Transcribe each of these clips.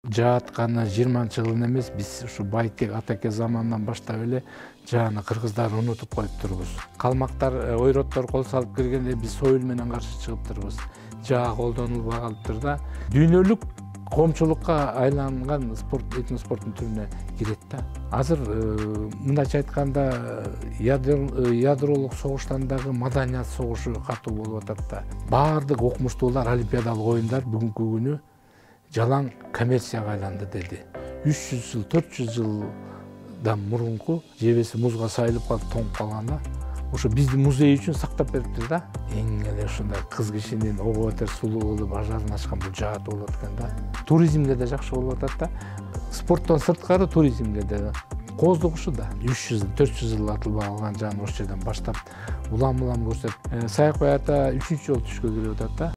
жаатканы 20-жылын эмес, биз ушу Байтек атаке заманынан баштап эле жааны кыргыздар унутуп коюп турбуз. Калмактар, ойроттор кол салып киргенде биз сойыл менен каршы чыгып турбуз. Жаа колдонулбай калыптыр да. Дүйнөлүк коомчулукка айланган спорт, этноспорттун түрүнө кирет да. Азыр мындайча айтканда ядролук согуштан дагы маданият согушу катуу болуп атат да. Баардык окумуштуулар олимпиадалык оюндар бүгүнкү күнү жалаң коммерцияга айланды деди. 300 жыл, 400 жылдан мурунку жебеси музга сайылып калып тоңуп калганда ошо биздин музей үчүн сактап бериптир да. Эң эле ушундай кыз кишинин ого бетер сулуу болуп ажарын ачкан бул жаат болот экен да. Туризмге да жакшы болуп атат да. Спорттон сырткары туризмге да кооздук ушу да. 300 жыл, 400 жыл атылбай калган жааны ошол жерден баштап улам көрсөтүп, Саякбай ата 3-чү жолу түшкө кирип атат да.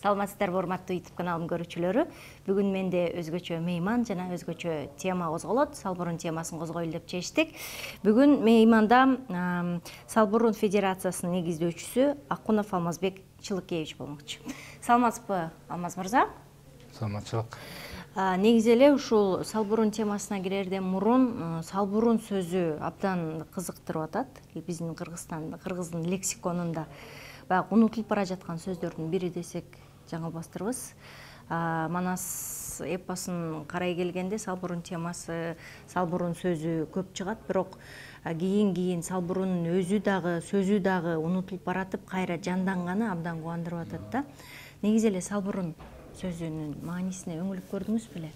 Саламатсыздарбы, урматтуу YouTube каналым көрүүчүлөрү. Бүгүн менде өзгөчө мейман жана өзгөчө тема козголот. Салбурун темасын козгойлу деп чечтик. Бүгүн мейманда Салбурун Федерациясынын негиздөөчүсү Акунов Алмазбек Чылыкевич болмокчу. Саламатсызбы, Алмаз мырза? Саламатчылык. Негизи эле ушул Салбурун темасына кирерден мурун Салбурун сөзү абдан кызыктырып атат. Биздин кыргыздын лексиконунда баягы унутулуп бара жаткан сөздөрдүн бири десек жаңылбастырбыз. Манас эпосун карай келгенде Салбурун темасы, Салбурун сөзү көп чыгат, бирок кийин Салбурунун өзү дагы, сөзү дагы унутулуп баратып, кайра жанданганы абдан кубандырып атат да. Негизи эле Салбурун сөзүнүн маанисине өңүлүп көрдүңүз беле?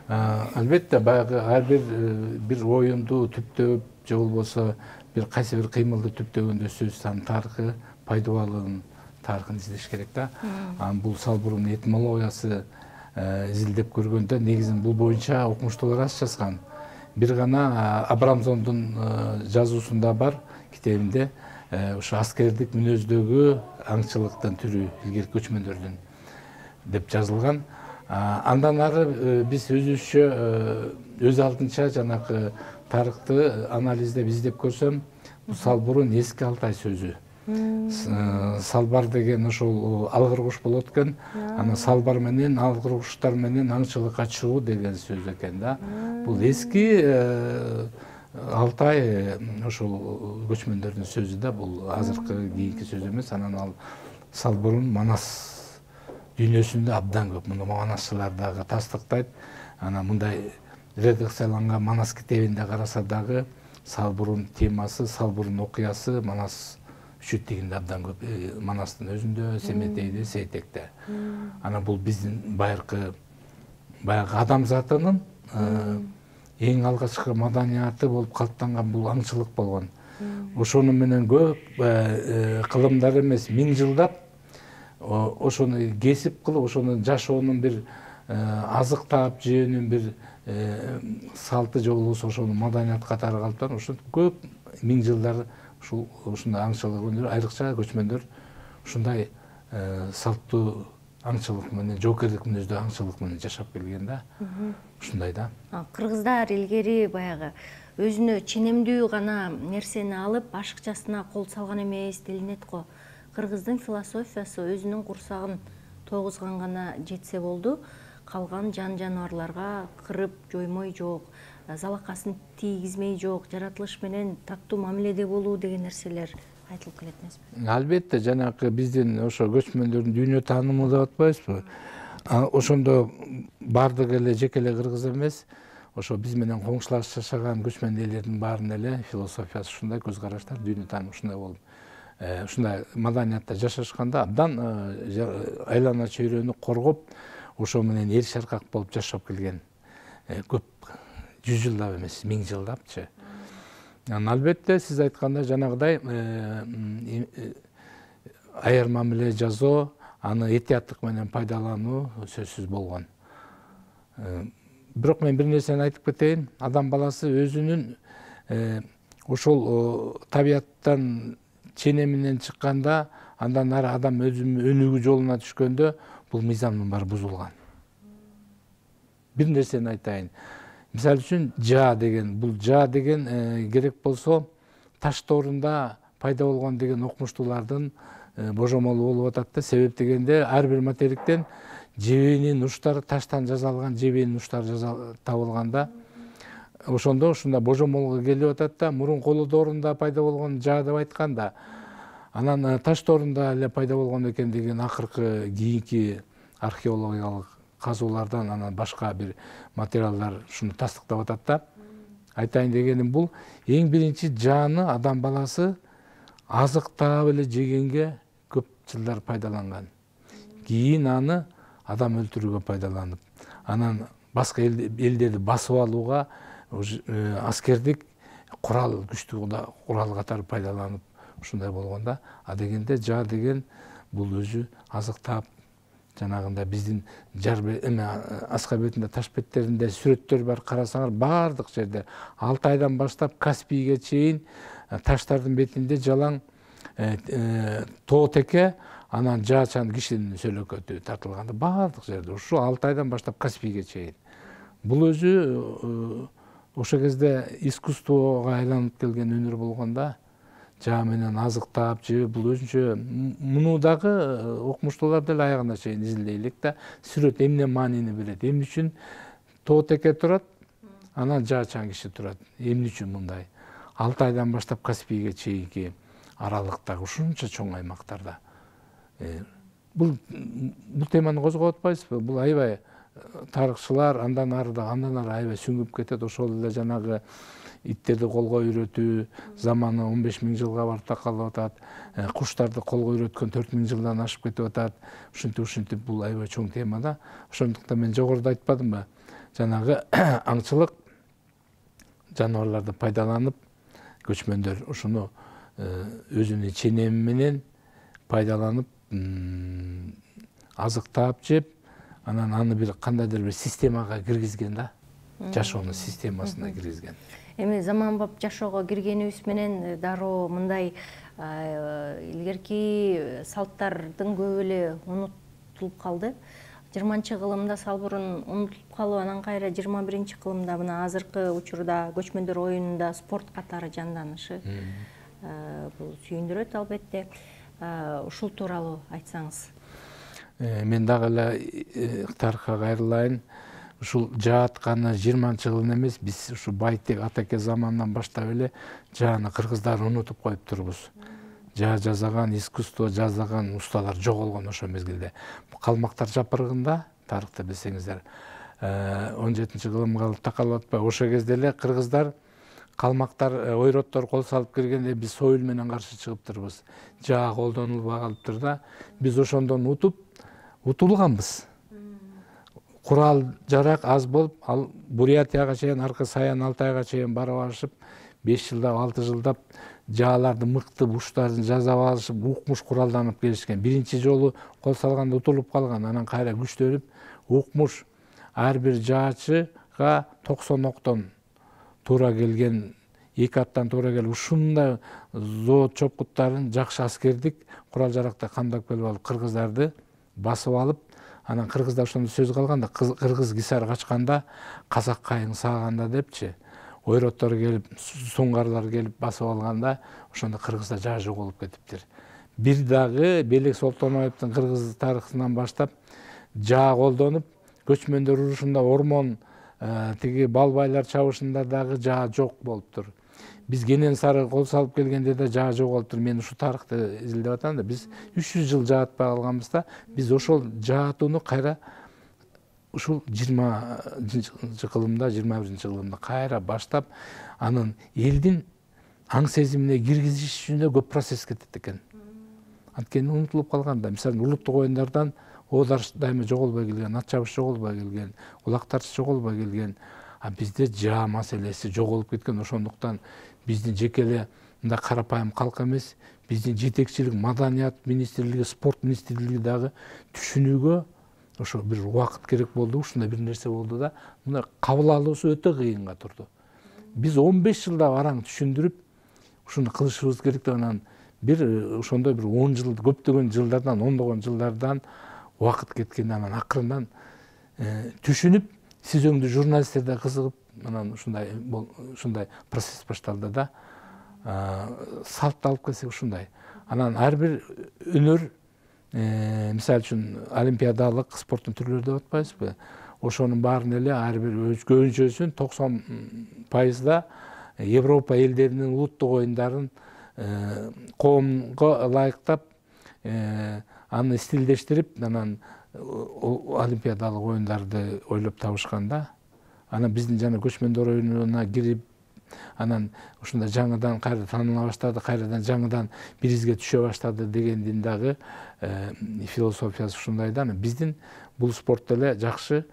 Албетте, баягы ар бир оюнду түптөп же болбосо бир кайсы бир кыймылды түптөгөндө сөздүн тарыхы, пайдабалын тарыхын издеш керек да. Бул Салбурун этимологиясы изилдеп көргөндө негизин бул боюнча окумуштуулар аз жазган. Бир гана Абрамсондун жазуусунда бар китебинде ушу аскердик мүнөздөгү аңчылыктын түрү илгерки көчмөндөрдүн деп жазылган. Андан ары биз өзүбүзчө өз алдынча жанагы тарыхты анализдеп издеп көрсөм, бул Салбурун эски Алтай сөзү. Салбар деген ошол алгыр куш болот экен. Ана салбар менен алгыр куштар менен аңчылыкка чыгуу деген сөз экен да. Бул эски Алтай ошол көчмөндөрдүн сөзү да, бул азыркы кийинки сөз эмес. Анан ал Салбурун Манас дүйнөсүндө абдан көп. Муну манасчылар дагы тастыктайт. Анан мындай редакцияланган Манас китебинде караса дагы Салбурун темасы, Салбурун окуясы Манас үчүттүгүндө абдан көп. Манастын өзүндө, Семетейде, Сейтекте. Анан бул биздин баягы адамзатынын эң алгачкы маданияты болуп калыптанган бул аңчылык болгон. Ошону менен көп кылымдар эмес, 1000 жылдап ошону кесип кылып, ошону жашоонун бир азыктап жөөнүн бир салты же болбосо ошону маданият катары калыптан ошо көп 1000 жылдар ушундай аңчылык өнөр, айрыкча көчмөндөр ушундай салттуу аңчылык менен, жоокерлик мүнөздүү аңчылык менен жашап келген да. Ушундай да. Кыргыздар илгери баягы өзүнө ченемдүү гана нерсени алып, ашыкчасына кол салган эмес делинет го. Кыргыздын философиясы өзүнүн курсагын тогузган гана жетсе болду. Калган жан жаныбарларга кырып жоймой жок. залакасын тийгизмей жок, жаратылыш менен тактуу мамиледе болуу деген нерселер айтылып келет эмеспи? Албетте, жанагы биздин ошо көчмөндөрдүн дүйнө таанымы деп атпайбызбы? Ошондо баардыгы эле жеке эле кыргыз эмес, ошо биз менен коңшулаш жашаган көчмөн элдердин баарынын эле философиясы ушундай, көз караштар, дүйнө таанымы ушундай болуп, ушундай маданиятта жашашканда абдан айлана чөйрөнү коргоп, ошо менен эл шаркак болуп жашап келген. Көп 100 жылдап эмес, 1000 жылдапчы. Албетте, сиз айткандай жанагыдай аяр мамиле жасоо, аны этияттык менен пайдалануу сөзсүз болгон. Бирок мен бир нерсени айтып кетейин. Адам баласы өзүнүн ошол табияттан ченеминен чыкканда, андан ары адам өзүнүн өнүгүү жолуна түшкөндө бул мыйзамдын баары бузулган. Бир нерсени айтайын. Мисалы үчүн бул жаа деген керек болсо таш тоорунда пайда болгон деген окумуштуулардын божомолу болуп атат да. Себеп дегенде ар бир материктен жебенин уштары, таштан жасалган жебенин уштары табылганда, ошондо ушундай божомолго келип атат да. Мурун коло доорунда пайда болгон жаа деп айтканда, анан таш тоорунда эле пайда болгон экен деген акыркы кийинки археологиялык казуулардан анан башка бир материалдар ушуну тастыктап атат да. Айтайын дегеним бул эң биринчи жааны адам баласы азыктап эле жегенге көп жылдар пайдаланган. Кийин аны адам өлтүрүүгө пайдаланып, анан башка элдерди басып алууга аскердик курал, күчтүү курал катары пайдаланып ушундай болгонда. А дегенде жаа деген бул өзү азыктап, жанагындай биздин аска бетинде, таш беттеринде сүрөттөр бар, карасаңар баардык жерде Алтайдан баштап Каспийге чейин таштардын бетинде жалаң тоо теке, анан жаачан кишинин сөөлөкөтү тартылганда баардык жерде, ушу Алтайдан баштап Каспийге чейин. Бул өзү ошол кезде искусствого айланып келген өнөр болгонда, жаа менен азыктап жеп, бул өзүнчө муну дагы окумуштуулар деле аягына чейин изилдей элек да. Сүрөт эмне маанини берет, эмне үчүн тоо теке турат, анан жаачан киши турат, эмне үчүн мындай. Алтайдан баштап Каспийге чейинки аралыктагы ушунча чоң аймактарда. Бул теманы козгоп атпайсызбы? Бул аябай тарыхчылар андан ары аябай сүңгүп кетет. Ошол эле жанагы иттерди колго үйрөтүү заманы 15 000 жылга барып такалып атат. Куштарды колго үйрөткөн 4 000 жылдан ашып кетип атат. Ушинтип бул аябай чоң тема да. Ошондуктан мен жогоруда айтпадымбы? Жанагы аңчылык жаныбарларды пайдаланып, көчмөндөр ушуну өзүнүн ченеми менен пайдаланып, азыктап жеп, анан аны бир кандайдыр бир системага киргизген да. Жашоонун системасына киргизген. Эми заманбап жашоого киргенибиз менен дароо мындай илгерки салттардын көбү эле унутулуп калды. 20-кылымда салбурун унутулуп калып, анан кайра 21-кылымда мына азыркы учурда көчмөндөр оюнунда спорт катары жанданышы бул сүйүндүрөт албетте. Ушул тууралуу айтсаңыз. Мен дагы эле тарыхка кайрылайын. Ушул жаатканы 20-жылын эмес, биз ушу Байтек атаке заманынан баштап эле жааны кыргыздар унутуп коюп турбуз. Жаа жасаган, искусство жасаган усталар жоголгон ошол мезгилде. Калмактар жапыргында, тарыхты билсеңиздер, 17-кылым калып такалып атпайбы? Ошол кезде эле кыргыздар, калмактар, ойроттор кол салып киргенде биз союл менен каршы чыгып турбуз. Жаа колдонулбай калыптыр да. Биз ошондон утулганбыз. Курал жарак аз болуп, ал Бурятияга чейин, аркы Саян, Алтайга чейин барып алышып, 5 жылдап, 6 жылдап жааларды мыкты уштарын жасап алышып, укмуш куралданып келишкен. Биринчи жолу кол салганда утулуп калган, анан кайра күчтөнүп, укмуш ар бир жаачыга 90 октон туура келген, 2 аттан туура келип, ушундай зоот чопкуттарын, жакшы аскердик курал жаракта камдап келип алып, кыргыздарды басып алып, анан кыргызда ошондо сөз калганда, кыргыз кисар качканда, казак кайың сааганда депчи, ойроттор келип, суңгарлар келип басып алганда, ошондо кыргызда жаа жоголуп кетиптир. Бир дагы Белек Солтоноевдун кыргыз тарыхынан баштап жаа колдонуп, көчмөндөр урушунда ормон тиги балбайлар чабышында дагы жаа жок болуптур. Биз кенен сары кол салып келгенде да жаа жок болуптур. Мен ушу тарыхты изилдеп атам да, биз 300 жыл жаатпай калганбыз да, биз ошол жаатууну кайра ушул 20-кылымда, 21-кылымда кайра баштап, анын элдин аң сезимине киргизиш үчүн да көп процесс кетет экен. Анткени унутулуп калган да. Мисалы улуттук оюндардан оодар дайыма жоголбой келген, ат чабыш жоголбой келген, улак тартыш жоголбой келген. А бизде жаа маселеси жоголуп кеткен. Ошондуктан биздин жеке эле мындай карапайым калк эмес, биздин жетекчилик, маданият министрлиги, спорт министрлиги дагы түшүнүүгө ошо бир убакыт керек болду, ушундай бир нерсе болду да, мына кабыл алуусу өтө кыйынга турду. Биз 15 жылда араң түшүндүрүп, ушуну кылышыбыз керек деп, анан бир ошондой бир 10 жыл, көптөгөн жылдардан, ондогон жылдардан убакыт кеткен, анан акырындан түшүнүп, сиз өңдүү журналисттер да кызыгып, анан ушундай процесс башталды да. Салтты алып келсек ушундай. Анан ар бир өнөр, мисалы үчүн олимпиадалык спорттун түрлөрү деп атпайбызбы? Ошонун баарын эле ар бир көбүнчөсүн 90% Европа элдеринин улуттук оюндарын коомго ылайыктап, аны стилдештирип, анан олимпиадалык оюндарды ойлоп табышкан да. Анан биздин жана көчмөндөр оюнуна кирип, анан ушундай жаңыдан кайра тааныла баштады, кайрадан жаңыдан биризге түшө баштады дегендин дагы философиясы ушундай да. Биздин бул спорт эле жакшы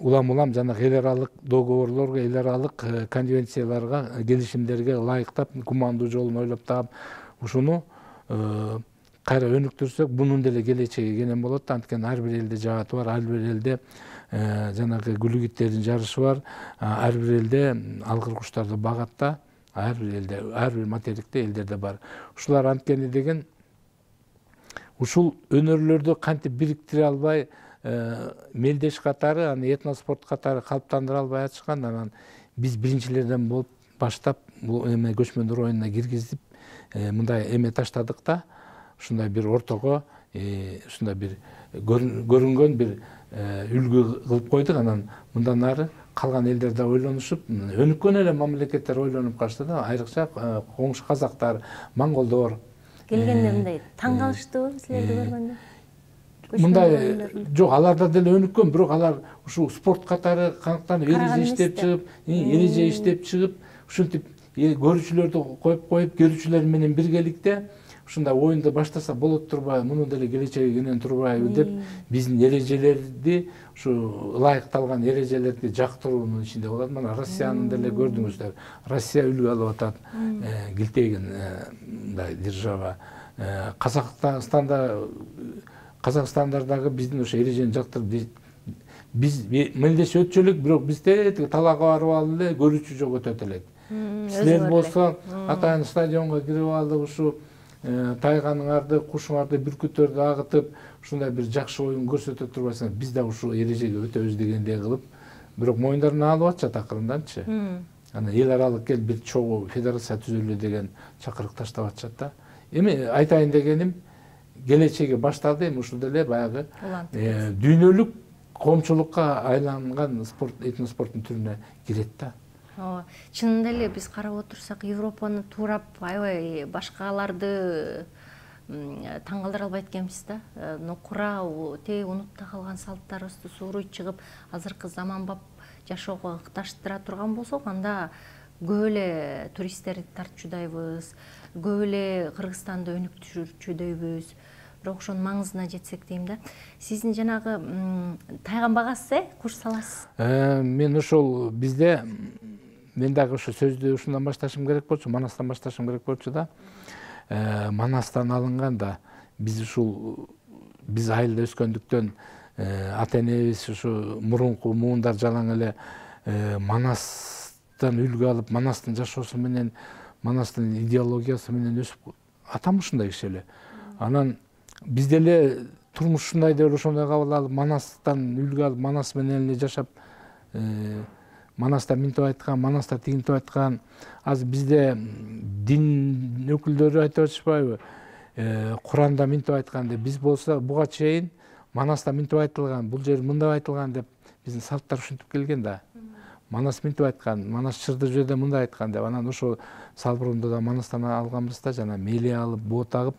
улам жанагы эл аралык договорлорго, эл аралык конвенцияларга, келишимдерге ылайыктап, кумандуу жолун ойлоп таап, ушуну кайра өнүктүрсөк, бунун деле келечеги кенен болот. Анткени ар бир элде жааты бар, ар бир элде жанагы гүлүгүттердин жарышы бар, ар бир элде алгыр куштарды багат да, ар бир элде, ар бир материкте элдерде бар. Ушулар анткени деген ушул өнөрлөрдү кантип бириктире албай, мелдеш катары, аны этноспорт катары калыптандыра албай атышкан. Анан биз биринчилерден болуп баштап бул эме көчмөндөр оюнуна киргизип, мындай эме таштадык да. Ушундай бир ортого, ушундай бир көрүнгөн бир үлгү кылып койдук. Анан мындан ары калган элдер да ойлонушуп, өнүккөн эле мамлекеттер ойлонуп калышты да. Айрыкча коңшу казактар, монголдор келгенде мындай таң калыштыбы силерди көргөндө? Мындай жок, аларда деле өнүккөн, бирок алар ушул спорт катары канактанып эреже иштеп чыгып, ушинтип көрүүчүлөрдү коюп, көрүүчүлөр менен биргеликте ушундай оюнду баштаса болот турбайбы, мунун деле келечеги кенен турбайбы деп, биздин эрежелерди, ушу ылайыкталган эрежелерди жактыруунун ичинде болот. Мына Россиянын деле көрдүңүздөр. Россия үлгү алып атат, килтейген мындай держава. Казакстандардагы биздин ошо эрежени жактырып, биз мелдеш өтчү элек, бирок бизде талаага барып алып эле көрүүчү жок өтөт элек. Силер болсо атайын стадионго кирип алып, ушу тайганыңарды, кушуңарды, бүркүттөрдү агытып, ушундай бир жакшы оюн көрсөтө турбайсыңар. Биз да ушул эрежеге өтөбүз дегендей кылып, бирок моюндарына алып атышат акырынданчы. Анан эл аралык бир чогуу федерация түзөлү деген чакырык таштап атышат да. Эми айтайын дегеним, келечеги башталды, эми ушул деле баягы дүйнөлүк коомчулукка айланган спорт, этноспорттун түрүнө кирет да. Чынында эле биз карап отурсак, Европаны туурап, аябай башкаларды таң калтыра албайт экенбиз да. Нокура, унутта калган салттарыбызды сууруй чыгып, азыркы заманбап жашоого ыкташтыра турган болсок, анда көп эле туристтерди тартчудайбыз, көп эле Кыргызстанды өнүктүрчүдөйбүз. Бирок ошонун маңызына жетсек дейм да. Сиздин жанагы тайган багасыз, курс саласыз? Мен ошол бизде, мен дагы ошо сөздү ушундан башташым керек болчу, Манастан башташым керек болчу да. Манастан алынган да, биз ушул, биз айылда өскөндүктөн, ата энебиз ушу мурунку муундар жалаң эле Манастан үлгү алып, Манастын жашоосу менен, Манастын идеологиясы менен өсүп, атам ушундай киши эле. Анан биз деле турмуш ушундай деп ошондой кабыл алып, Манастан үлгү алып, Манас менен эле жашап, Манаста минтип айткан, Манаста тигинтип айткан. Азыр бизде дин өкүлдөрү айтып атышпайбы? Куранда минтип айткан деп, биз болсо буга чейин Манаста минтип айтылган, бул жер мындай айтылган деп биздин салттар ушинтип келген да. Манас мынтип айткан, Манас Чырдыжөдө мындай айткан деп. Анан ошо Салбурунду да Манастан алганбыз да, жана мели алып, боо тагып,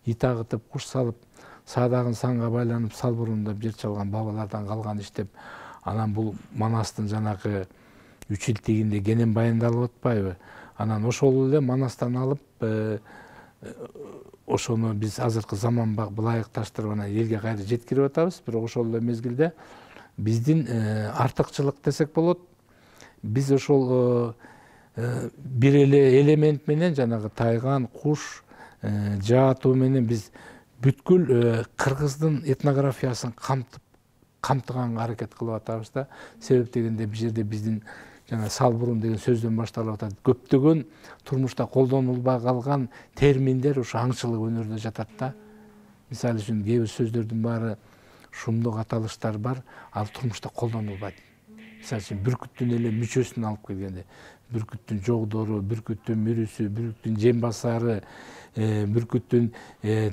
ит агытып, куш салып, саадагын санга байланып Салбурунда жер чалган бабалардан калган иш деп. Анан бул Манастын жанагы үч эл тигинде кенен баяндалып атпайбы? Анан ошол эле Манастан алып, ошону биз азыркы заманга ылайыкташтырып анан элге кайра жеткирип атабыз. Бирок ошол эле мезгилде биздин артыкчылык десек болот. Биз ошол бир эле элемент менен жанагы тайган, куш, жаатуу менен биз бүткүл кыргыздын этнографиясын камтыганга аракет кылып атабыз да. Себеп дегенде бул жерде биздин жана Салбурун деген сөздөн башталып атат. Көптөгөн турмушта колдонулбай калган терминдер ошо аңчылык өнөрдө жатат да. Мисалы үчүн кээ бир сөздөрдүн баары шумдук аталыштар бар, ал турмушта колдонулбайт. Мисалы үчүн бүркүттүн эле мүчөсүн алып келгенде, бүркүттүн жогдору, бүркүттүн мүрүсү, бүркүттүн жем басары, бүркүттүн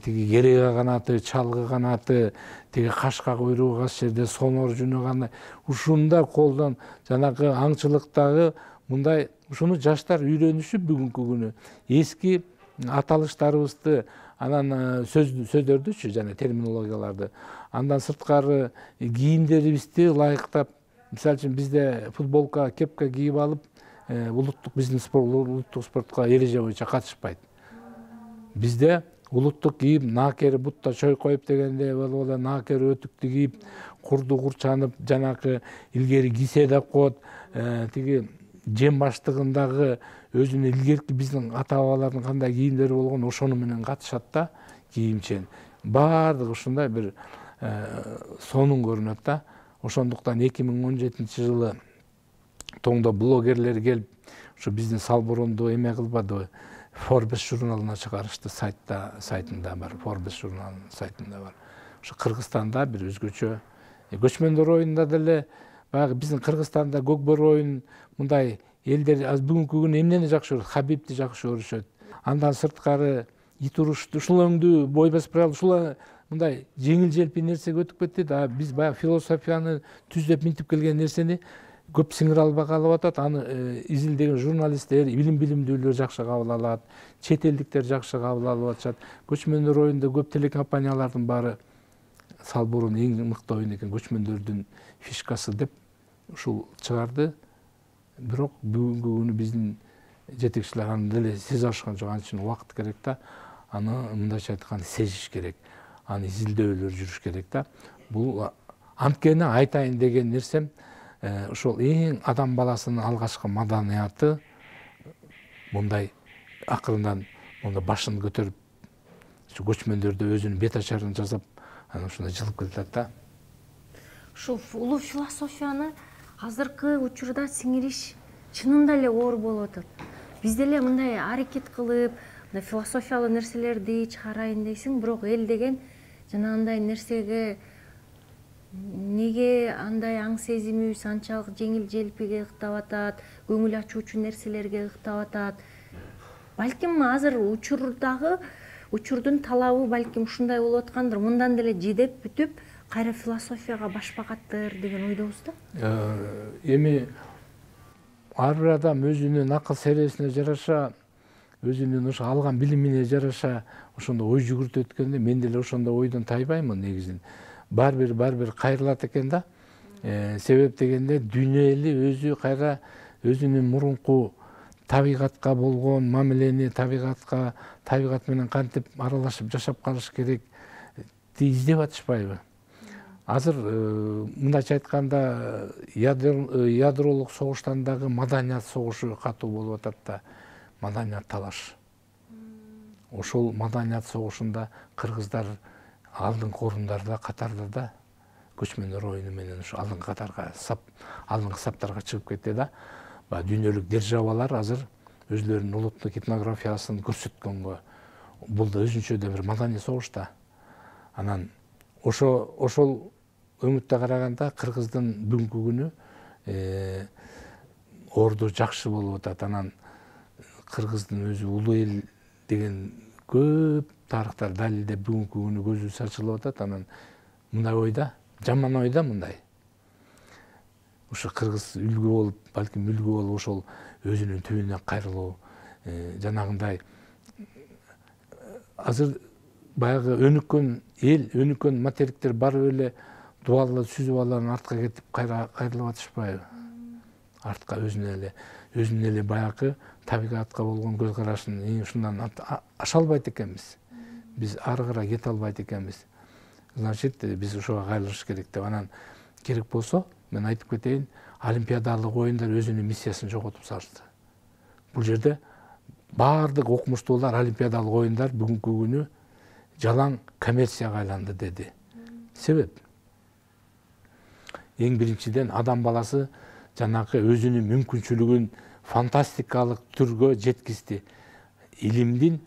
тиги керега канаты, чалгы канаты, тиги кашка куйругу кас жерде сонор жунуганы, ушундай колдон жанагы аңчылыктагы мындай ушуну жаштар үйрөнүшүп бүгүнкү күнү эски аталыштарыбызды, анан сөздөрдүчү жана терминологияларды, андан сырткары кийимдерибизди ылайыктап, мисалы үчүн бизде футболка, кепка кийип алып, биздин улуттук спортко эреже боюнча катышпайт. Бизде улуттук кийим наакери бутта чойкоюп дегенде болуп эле наакери өтүктү кийип, курду курчанып, жанакы илгери кисе деп коет, тиги жем баштыгындагы өзүнүн илгерки биздин ата бабалардын кандай кийимдери болгон ошону менен катышат да, кийимчен. Баардыгы ушундай бир сонун көрүнөт да. Ошондуктан 2017 жылы тоңдо блогерлер келип, ушу биздин Салбурунду эме кылбадыбы, Forbes журналына чыгарышты, сайтында бар, Forbes журналынын сайтында бар. Ушу Кыргызстанда бир өзгөчө, көчмөндөр оюнунда деле баягы биздин Кыргызстанда көкбөр оюн мындай элдер бүгүнкү күнү эмнени жакшы көрөт? Хабибди жакшы көрүшөт. Андан сырткары ит урушту, ушул өңдүү бой басып баралы, ушул мындай жеңил желпи нерсеге өтүп кетти да. Биз баягы философияны түздөп минтип келген нерсени көп сиңире албай калып атат. Аны изилдеген журналисттер, билимдүүлөр жакшы кабыл алат, чет элдиктер жакшы кабыл алып атышат. Көчмөндөр оюнда көп телекомпаниялардын баары Салбурун эң мыкты оюн экен, көчмөндөрдүн фишкасы деп ушул чыгарды. Бирок бүгүнкү күнү биздин жетекчилер аны деле сезе алышкан жок. Ал үчүн убакыт керек да. Аны мындайча айтканда сезиш керек. Аны изилдөөлөр жүрүш керек да. Бул анткени айтайын деген нерсем, ошол эң адам баласынын алгачкы маданияты мындай акырындан монда башын көтөрүп, ушу көчмөндөрдө өзүнүн бет ачарын жасап, анан ушундай жылып келатат да. Ушул улуу философияны азыркы учурда сиңириш чынында эле оор болуп атат. Биз деле мындай аракет кылып, мындай философиялуу нерселерди чыгарайын дейсиң, бирок эл деген жана андай нерсеге неге андай аң сезимибиз анчалык жеңил желпиге ыктап атат, көңүл ачуучу нерселерге ыктап атат. Балким азыр учурдун талабы балким ушундай болуп аткандыр. Мындан деле жедеп бүтүп, кайра философияга башпагаттыр деген ойдобуз да. Эми ар бир адам өзүнүн акыл сересине жараша, өзүнүн ошо алган билимине жараша ошондой ой жүгүртүп өткөндө мен деле ошондой ойдон тайбаймын негизин. Бар бир кайрылат экен да. Себеп дегенде дүйнө эли өзү кайра өзүнүн мурунку табигатка болгон мамилени, табигат менен кантип аралашып жашап калыш керек издеп атышпайбы? Азыр мындайча айтканда ядролук согуштан дагы маданият согушу катуу болуп атат да. Маданият талаш. Ошол маданият согушунда кыргыздар алдыңкы орундарда, катарда да, көчмөндөр оюну менен ушу алдыңкы катарга, алдыңкы саптарга чыгып кетти да. Дүйнөлүк державалар азыр өзлөрүнүн улуттук этнографиясын көрсөткөнгө, бул да өзүнчө бир маданий согуш да. Анан ошол өңүттө караганда кыргыздын бүгүнкү күнү орду жакшы болуп атат. Анан кыргыздын өзү улуу эл деген көп тарыхтар далилдеп бүгүнкү күнү көзүбүз ачылып атат. Анан мындай ойда, жаман ойда мындай. ушу кыргыз үлгү болуп, балким үлгү болуп ошол өзүнүн түбүнө кайрылуу, жанагындай азыр баягы өнүккөн эл, өнүккөн материктер барып эле дубалы сүзүп алып артка кетип кайрылып атышпайбы? Артка өзүнө эле баягы табигатка болгон көз карашын ушундан аша албайт экенбиз. Биз ары карай кете албайт экенбиз. Значит, биз ошого кайрылыш керек деп. Анан керек болсо, мен айтып кетейин, олимпиадалык оюндар өзүнүн миссиясын жоготуп салышты. Бул жерде баардык окумуштуулар олимпиадалык оюндар бүгүнкү күнү жалаң коммерцияга айланды деди. Себеп? Эң биринчиден адам баласы жанагы өзүнүн мүмкүнчүлүгүн фантастикалык түргө жеткизди. Илимдин,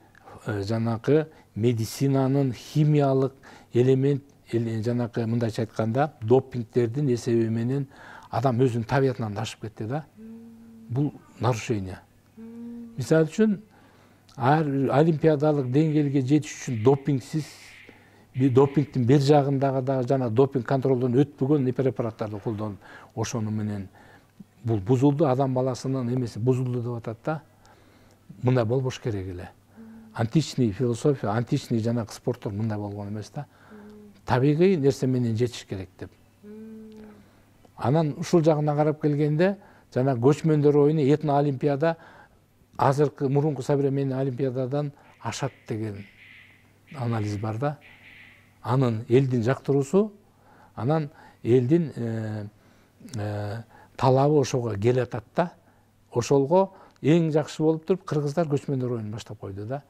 жанагы медицинанын химиялык элемент, жанагы мындайча айтканда, допингдердин эсеби менен адам өзүнүн табиятынан ашып кетти да. Бул нарушение. Мисалы үчүн, олимпиадалык деңгээлге жетиш үчүн допингдин бир жагындагы да жана допинг контролдон өтпөгөн препараттарды колдонуп, ошону менен бул бузулду, адам баласынын эмеси бузулду деп атат да. Мындай болбош керек эле. Античный философия, античный жанагы спорттор мындай болгон эмес да. Табигый нерсе менен жетиш керек деп. Анан ушул жагына карап келгенде, жана көчмөндөр оюну этно олимпиада азыркы мурунку современный олимпиададан ашат деген анализ бар да. Анын элдин жактыруусу, анан элдин талабы ошого келатат да. Ошолго эң жакшы болуп туруп кыргыздар көчмөндөр оюнун баштап койду да.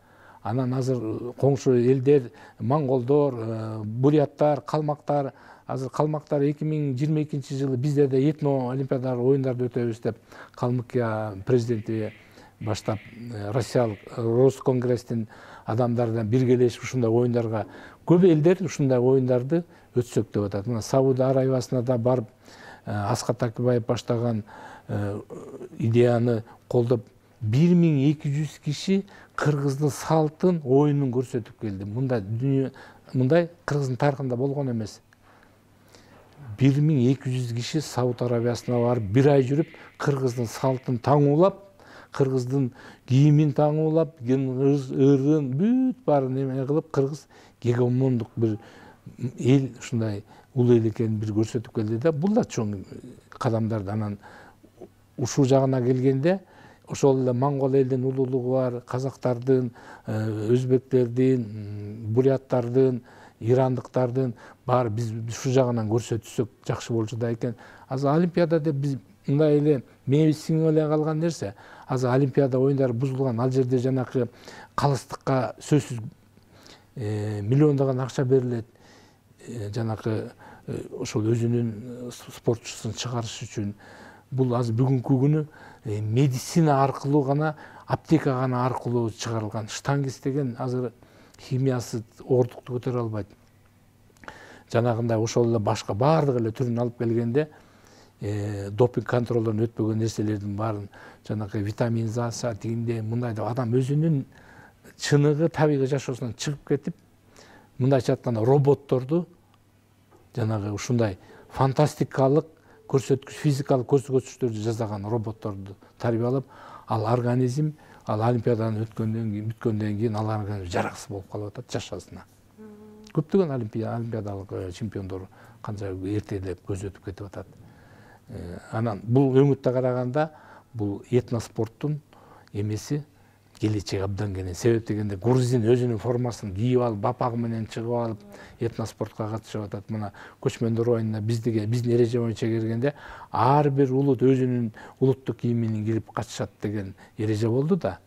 Анан азыр коңшу элдер, монголдор, буряттар, калмактар, азыр калмактар 2022-жылы биздерде этно олимпиадалык оюндарды өтөбүз деп Калмыкия президенти баштап Россиялык Росконгресстин адамдардан биргелешип ушундай оюндарга көп элдер ушундай оюндарды өтсөк деп атат. Мына Сауд Арабиясына да барып Аскат Акыбаев баштаган идеяны колдоп 1200 киши кыргыздын салтын, оюнун көрсөтүп келди. Мындай кыргыздын тарыхында болгон эмес. 1200 киши Сауд Арабиясына барып, бир ай жүрүп, кыргыздын салтын таңуулап, кыргыздын кийимин таңуулап, ырын, бүт баарын эме кылып, кыргыз гегемондук бир эл, ушундай улуу эл экенин бир көрсөтүп келди да. Бул да чоң кадамдар. Анан ушул жагына келгенде, ошол эле монгол элдин улуулугу бар, казактардын, өзбектердин, буряттардын, ирандыктардын баары биз ушул жагынан көрсөтсөк жакшы болчу да экен. Азыр олимпиада деп биз мындай эле мээбиз сиңип эле калган нерсе. Азыр олимпиада оюндары бузулган, ал жерде жанакы калыстыкка сөзсүз миллиондогон акча берилет. Жанакы ошол өзүнүн спортчусун чыгарыш үчүн. Бул азыр бүгүнкү күнү медицина аркылуу гана, аптека гана аркылуу чыгарылган. Штангист деген азыр химиясы ордукту көтөрө албайт. Жанагындай ошол эле башка баардык эле түрүн алып келгенде, допинг контролдон өтпөгөн нерселердин баарын, жанагы витаминизация тигинде мындай деп адам өзүнүн чыныгы табигый жашоосунан чыгып кетип, мындайча айтканда роботторду, жанагы ушундай фантастикалык көрсөткүч, физикалык көрсөткүчтөрдү жасаган роботторду тарбиялап, ал организм, ал олимпиададан бүткөндөн кийин ал организм жараксыз болуп калып атат жашоосуна. Көптөгөн олимпиадалык чемпиондор канча эртелеп көзөтүп кетип атат. Анан бул өңүттө караганда бул этноспорттун эмеси келечеги абдан кенен. Себеп дегенде грузин өзүнүн формасын кийип алып, бапагы менен чыгып алып, этноспортко катышып атат. Мына көчмөндөр оюнуна биздин эреже боюнча келгенде ар бир улут өзүнүн улуттук кийимин кирип катышат деген эреже болду да.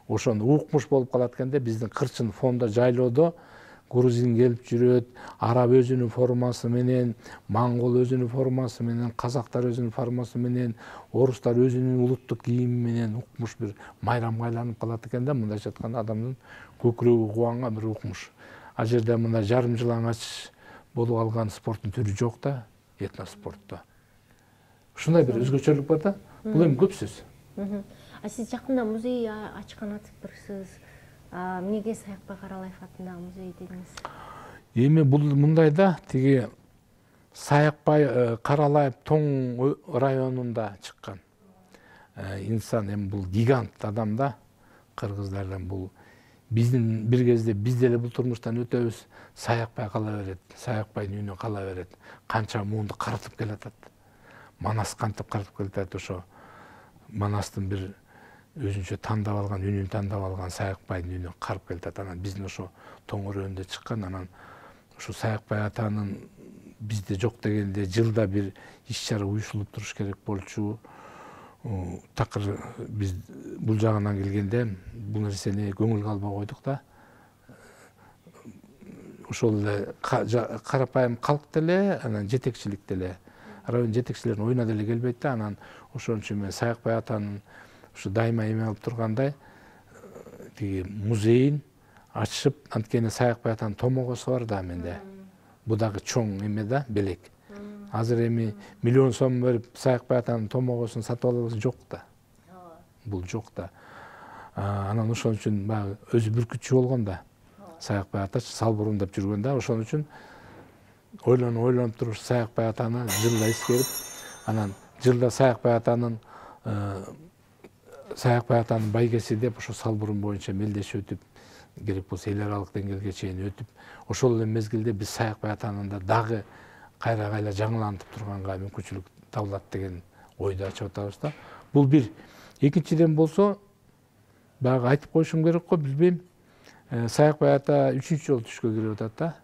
Ошону укмуш болуп калат экенде, биздин кырчын фондо, жайлоодо грузин келип жүрөт, араб өзүнүн формасы менен, монгол өзүнүн формасы менен, казактар өзүнүн формасы менен, орустар өзүнүн улуттук кийими менен укмуш бир майрамга айланып калат экен да. Мындайча айтканда адамдын көкүрөгү кубанган бир укмуш. Ал жерде мындай жарым жылаңач болуп алган спорттун түрү жок да, этноспортто. Ушундай бир өзгөчөлүк бар да. Бул эми көп сөз. Сиз жакында музей ачкан атыптырсыз. Эмнеге Саякбай Каралаев атындагы музей дедиңиз? Эми бул мындай да, тиги Саякбай Каралаев Тоң районунда чыккан инсан. Эми бул гигант адам да, кыргыздардан. Бул биздин бир кезде биз деле бул турмуштан өтөбүз, Саякбай кала берет, Саякбайдын үйүнө кала берет. Канча муунду карытып келатат. Манас кантип карытып келатат, ошо Манастын бир өзүнчө тандап алган, үнүн тандап алган Саякбайдын үйүнө карып келатат. Анан биздин ошо Тоң районунда чыккан. Анан ушул Саякбай атанын бизде жок дегенде жылда бир иш-чара уюштурулуп туруш керек болчу. Такыр биз бул жагынан келгенде бул нерсени көңүлгө албай койдук да. Ошол эле карапайым калк деле, анан жетекчилик деле, район жетекчилеринин оюна деле келбейт да. Анан ошон үчүн мен Саякбай атанын ушу дайыма эме алып тургандай тиги музейин ачып, анткени Саякбай атанын томогосу бар да менде. Бул дагы чоң эме да, белек. Азыр эми миллион сом берип Саякбай атанын томогосун сатып алабыз жок да. Бул жок да. Анан ошон үчүн баягы өзү бүркүтчү болгон да. Саякбай атачы салбурун деп жүргөн да. Ошон үчүн ойлонуп туруп Саякбай атаны жылда эскерип, анан жылда Саякбай атанын байгеси деп ошо салбурун боюнча мелдешип өтүп, керек болсо эл аралык деңгээлге чейин өтүп, ошол эле мезгилде биз Саякбай атанында дагы кайра жаңылантып турганга мүмкүнчүлүк табылат деген ойду ачып атабыз да. Бул бир. Экинчиден болсо, баягы айтып коюшум керек го, билбейм. Саякбай ата 3-чү жолу түшкө кирип атат да.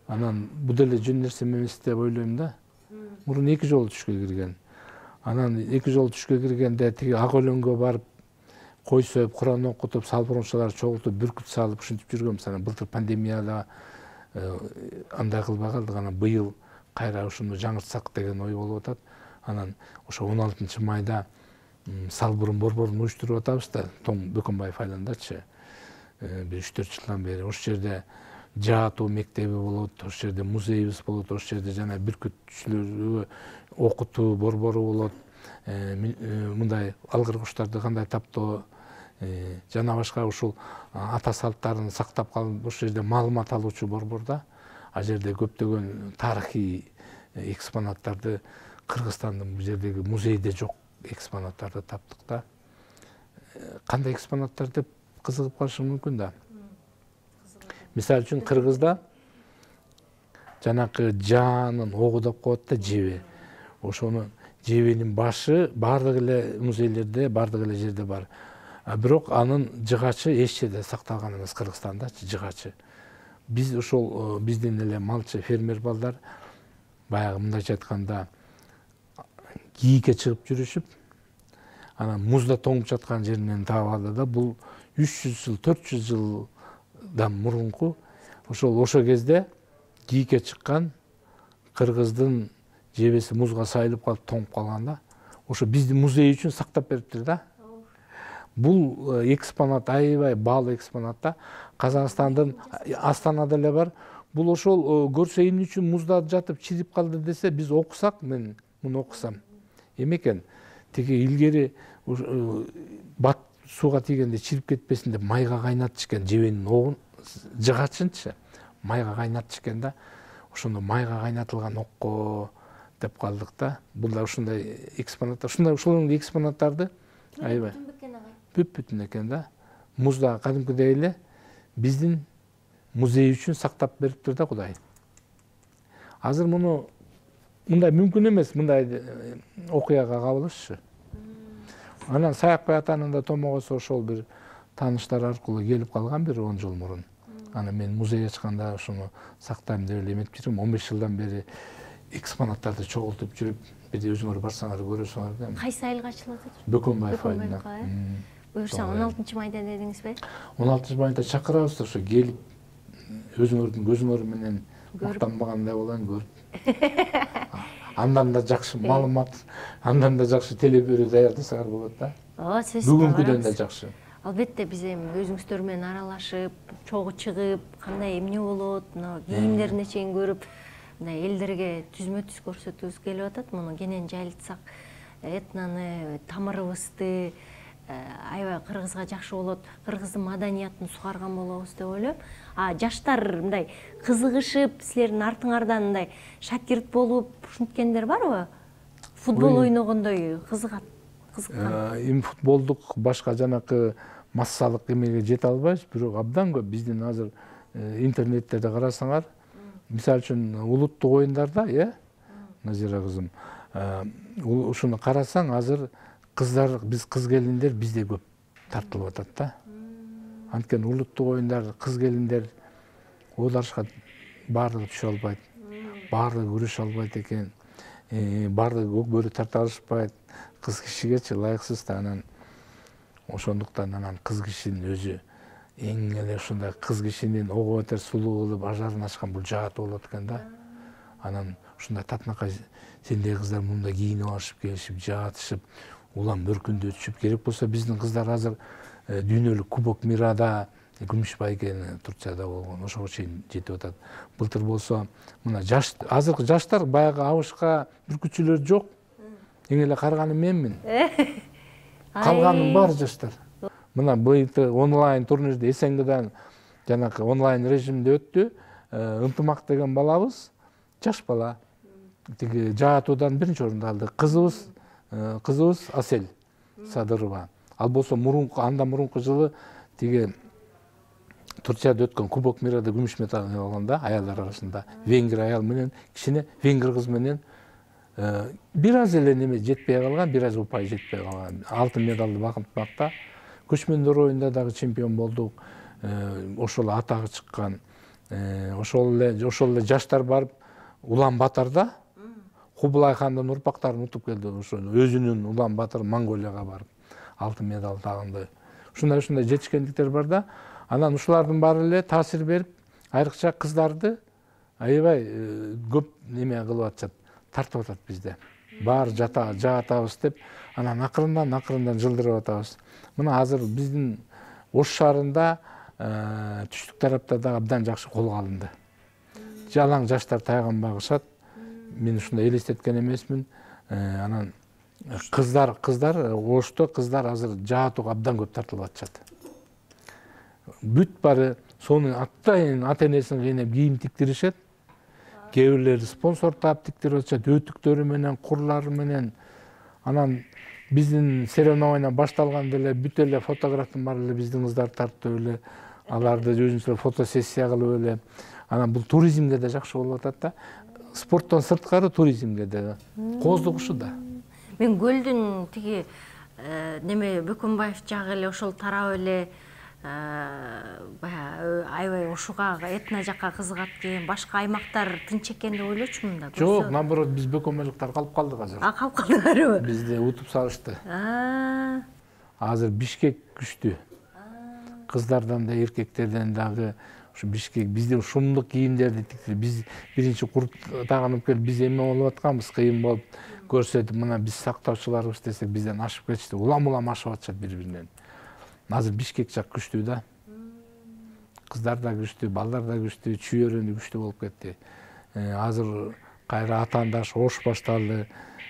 Анан бул деле жөн нерсе эмес деп ойлойм да. Мурун 2 жолу түшкө кирген. Анан 2 жолу түшкө киргенде тиги Ак өлөнгө барып кой союп, Куран окутуп, салбурунчулар чогултуп, бүркүт салып ушинтип жүргөнбүз. Анан былтыр пандемияда андай кылбай калдык. Анан быйыл кайра ушуну жаңыртсак деген ой болуп атат. Анан ошо 16-майда салбурун борборун уюштуруп атабыз да, Тоң Бөкөнбаев айландачы. Бир 3-4 жылдан бери ошол жерде жаатуу мектеби болот, ошол жерде музейибиз болот, ошол жерде жана бүркүтчүлөргө окутуу борбору болот. Мындай алгыр куштарды кандай таптоо жана башка ушул ата салттарын сактап калып ошол жерде маалымат алуучу борборда. Ал жерде көптөгөн тарыхый экспонаттарды, Кыргызстандын бул жердеги музейде жок экспонаттарды таптык да. Кандай экспонаттар деп кызыгып калышы мүмкүн да. Мисалы үчүн Кыргызда жанакы жаанын огу деп коет да, жебе. Ошону жебенин башы бардык эле музейлерде, бардык эле жерде бар. Бирок анын жыгачы эч жерде сакталган эмес Кыргызстанда, жыгачы. Биз ошол биздин эле малчы, фермер балдар баягы мындайча айтканда кийикке чыгып жүрүшүп, анан музда тоңуп жаткан жеринен таап алды да. Бул 300 жыл, 400 жылдан мурунку ошо кезде кийикке чыккан кыргыздын жебеси музга сайылып калып тоңуп калган да. Ошо биздин музей үчүн сактап бериптир да. Бул экспонат аябай баалуу экспонат да. Казакстандын Астанада эле бар. Бул ошол көрсө эмне үчүн музда жатып чирип калды десе, биз окусак, мен муну окусам, эме экен, тиги илгери бат сууга тийгенде чирип кетпесин деп майга кайнатчу экен, жебенин огун, жыгачынчы майга кайнатчу экен да. Ошондо майга кайнатылган окко деп калдык да. Бул да ушундай экспонаттар, ушул экспонаттарды аябай бүт-бүтүн экен да. Музда кадимкидей эле биздин музей үчүн сактап бериптир да Кудай. Азыр муну мындай мүмкүн эмес, мындай окуяга кабылышчы. Анан Саякбай атанын да томогосу ошол бир тааныштар аркылуу келип калган бир 10 жыл мурун. Анан мен музей ачканда ошону сактайм деп эле эметип жүрөм. 15 жылдан бери экспонаттарды чогултуп жүрүп, бир өзүңөр барсаңар көрөсүңөр да. Кайсы айылга ачылат экен? Бөкөнбаев айылына. Буюрса 16-майда дедиңизби? 16-майда чакырабыз, ошо келип өзүңөрдүн көзүңөр менен мактанбагандай болоң, көрүп. Андан да жакшы маалымат, андан да жакшы телеберүү даярдасаңар болот да. Бүгүнкүдөн да жакшы. Албетте биз эми өзүңүздөр менен аралашып, чогуу чыгып, кандай эмне болот, кийимдерине чейин көрүп, мындай элдерге түзмө-түз көрсөтүүбүз келип атат. Муну кенен жайылтсак, этноны, тамырыбызды, аябай кыргызга жакшы болот, кыргыздын маданиятын сугарган болобуз деп ойлойм. Жаштар мындай кызыгышып, силердин артыңардан мындай шакирт болуп ушинткендер барбы? Футбол ойногондой кызыккан. Эми футболдук башка жанакы массалык эмеге жете албайбыз, бирок абдан көп биздин азыр интернеттерде карасаңар, мисалы үчүн улуттук оюндарда, Назира кызым, ушуну карасаң, азыр кыздар, биз кыз келиндер бизде көп тартылып атат да. Анткени улуттук оюндар, кыз келиндер ооларышка баардыгы түшө албайт, баардыгы күрөшө албайт экен, баардыгы өкмөрү тарта алышпайт. Кыз кишигечи ылайыксыз да, анан ошондуктан анан кыз кишинин өзү эң эле ушундай кыз кишинин ого бетер сулуу кылып ажарын ачкан бул жаатуу болот экен да. Анан ушундай татынакай сендей кыздар мындай кийинип алышып келишип, жаатышып, улам өркүндө өтүшүп, керек болсо биздин кыздар азыр дүйнөлүк Кубок Мирада күмүш байгени Турцияда болгон, ошого чейин жетип атат. Былтыр болсо мына азыркы жаштар баягы абышка бүркүтчүлөр жок. Эң эле карганы менмин. Калганын баары жаштар. Мына былтыр онлайн турнирде СНГдан жанакы онлайн режимде өттү. Ынтымак деген балабыз, жаш бала. Тиги жаатуудан биринчи орунду алды. Кызыбыз Асель Садырова. Ал болсо андан мурунку жылы тиги Турцияда өткөн Кубок Мирада күмүш медаль алган да, аялдар арасында. Венгер аял менен, кичине венгер кыз менен бир аз эле неме жетпей калган, бир аз упай жетпей калган. Алтын медалды багынтмакта. Көчмөндөр оюнда дагы чемпион болдук. Ошол атагы чыккан. Ошол эле жаштар барып Улан Батарда Кубулай хандын урпактарын утуп келди. Ошо өзүнүн Улан Батар Монголияга барып алтын медаль тагынды. Ушундай жетишкендиктер бар да. Анан ушулардын баары эле таасир берип, айрыкча кыздарды аябай көп неме кылып атышат, тартып атат бизде. Баары жаатабыз деп, анан акырындан жылдырып атабыз. Мына азыр биздин Ош шаарында түштүк тарапта да абдан жакшы колго алынды. Жалаң жаштар тайган багышат. Мен ушундай элестеткен эмесмин. Анан кыздар Ошто кыздар азыр жаатууга абдан көп тартылып атышат. Бүт баары сонун атайын ата-энесин кыйнап кийим тиктиришет. Кээ бирлери спонсор таап тиктирип атышат, өтүктөрү менен, курлары менен. Анан биздин соревнование башталганда эле бүт эле фотографтын баары эле биздин кыздар тартып эле, аларды өзүнчө фотосессия кылып эле. Анан бул туризмге да жакшы болуп атат да. Спорттон сырткары туризмге да кооздук ушу да. Мен көлдүн тиги неме Бөкөнбаев жагы эле ошол тарап эле баягы аябай ушуга этно жакка кызыгат экен, башка аймактар тынч экен деп ойлочумун да. Жок, наоборот, биз бөкөнбайлыктар калып калдык азыр. Калып калдыңарбы? Бизди утуп салышты. Азыр Бишкек күчтүү. Кыздардан да, эркектерден дагы ушу Бишкек бизде шумдук кийимдерди тиктирип, биз биринчи курт тагынып келип, биз эме болуп атканбыз, кыйын болуп көрсөтүп, мына биз сактоочуларыбыз десек, бизден ашып кетишти. Улам ашып атышат бири-биринен. Азыр Бишкек жак күчтүү да. Кыздар да күчтүү, балдар да күчтүү, чүйөрүнү күчтүү болуп кетти. Азыр кайра атаандаш Ош башталды.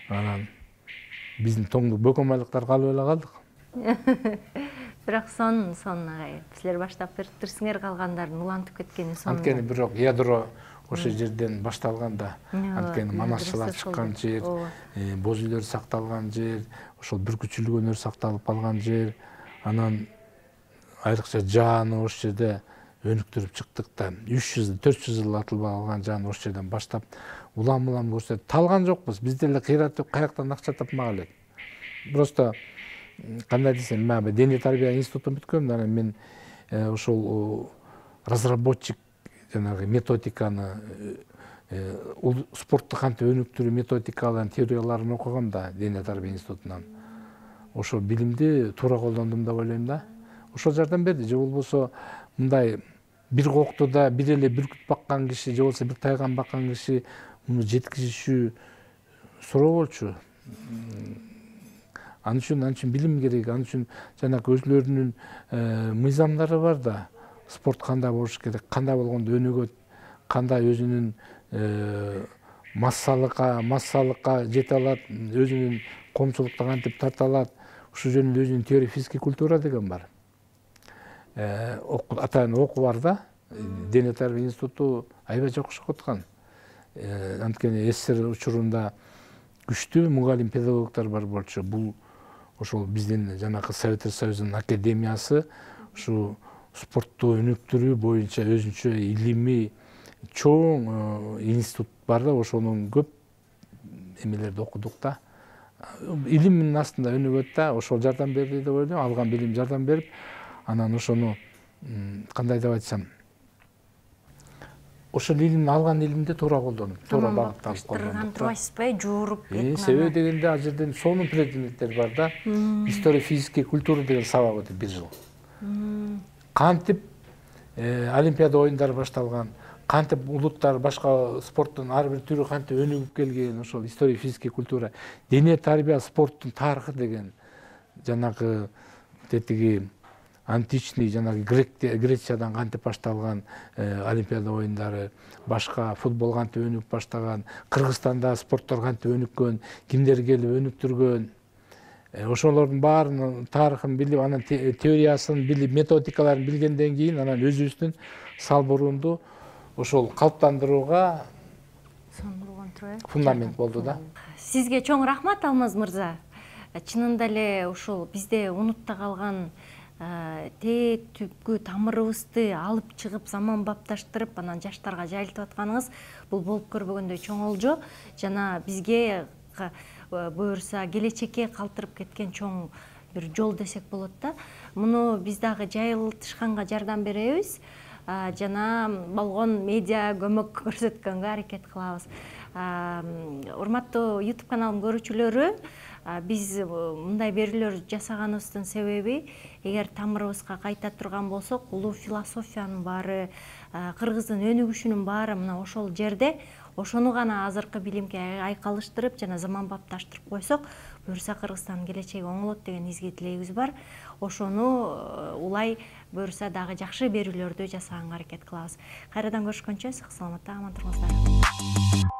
Анан биздин тоңдук бөкөнбайлыктар калып эле калдык. Бирок сонун агай. Силер баштап бериптирсиңер, калгандарын улантып кеткени сонун. Анткени бирок ядро ошол жерден башталган да. Анткени манасчылар чыккан жер, боз үйлөр сакталган жер, ошол бүркүтчүлүк өнөр сакталып калган жер. Анан айрыкча жааны ош жерде өнүктүрүп чыктык да. 300-400 жыл атылбай калган жааны ош жерден баштап улам көрсөтүп талган жокпуз. Биз деле кыйратып каяктан акча тапмак элек. Просто кандай десем, мен дене тарбия институтун бүткөм, анан мен ошол разработчик жанагы методиканы, спортту кантип өнүктүрүү методикаларын, теорияларын окугам да дене тарбия институтунан. Ошол билимди туура колдондум деп ойлойм да. Ошол жардам берди. Же болбосо мындай бир кокту да бир эле бүркүт баккан киши, же болбосо бир тайган баккан киши муну жеткизишүү суроо болчу. Ал үчүн билим керек, ал үчүн жанагы өзлөрүнүн мыйзамдары бар да. Спорт кандай болуш керек, кандай болгондо өнүгөт, кандай өзүнүн массалыкка жете алат, өзүнүн коомчулукта кантип тарта алат. ушул жөнүндө өзүнүн теория физика культура деген бар. Атайын окуу бар да. Дене тарбия институту аябай жакшы окуткан. Анткени СССР учурунда күчтүү мугалим педагогдор бар болчу. Бул ошол биздин жанакы Советтер Союзунун академиясы ушу спортту өнүктүрүү боюнча өзүнчө илимий чоң институт бар да, ошонун көп эмелерди окудук да. Илимдин астында өнүгөт да, ошол жардам берди деп ойлойм. Алган билим жардам берип, анан ошону кандай деп айтсам, ошол илимди алган илимди туура колдонуп, туура багытталып колдонуп турбайсызбы, жууруп себеби дегенде ал жерден сонун предметтер бар да. История физика культура деген сабак өтөт 1 жыл. Кантип Олимпиада оюндары башталган, кантип улуттар башка спорттун ар бир түрү кантип өнүгүп келген, ошол история физика культура, дене тарбия спорттун тарыхы деген жанагы тетиги античный жанагы Грециядан кантип башталган Олимпиада оюндары, башка футбол кантип өнүгүп баштаган, Кыргызстанда спорттор кантип өнүккөн, кимдер келип өнүктүргөн, ошолордун баарынын тарыхын билип, анан теориясын билип, методикаларын билгенден кийин анан өзүбүздүн Салбурунду ошол калыптандырууга фундамент болду да. Сизге чоң рахмат, Алмаз мырза. Чынында эле ушул бизде унутта калган тээ түпкү тамырыбызды алып чыгып заман бапташтырып, анан жаштарга жайылтып атканыңыз бул болуп көрбөгөндөй чоң олжо жана бизге буюрса келечекке калтырып кеткен чоң бир жол десек болот да. Муну биз дагы жайылтышканга жардам беребиз. Жана болгон медиа көмөк көрсөткөнгө аракет кылабыз. Урматтуу YouTube каналым көрүүчүлөрү, биз мындай берүүлөр жасаганыбыздын себеби, эгер тамырыбызга кайта турган болсок, улуу философиянын баары, кыргыздын өнүгүшүнүн баары мына ошол жерде. Ошону гана азыркы билимге айкалыштырып жана заман бапташтырып койсок, буюрса Кыргызстандын келечеги оңолот деген изги тилегибиз бар. Ошону улай буюрса дагы жакшы берүүлөрдү жасаганга аракет кылабыз. Кайрадан көрүшкөнчө сак саламатта аман туруңуздар.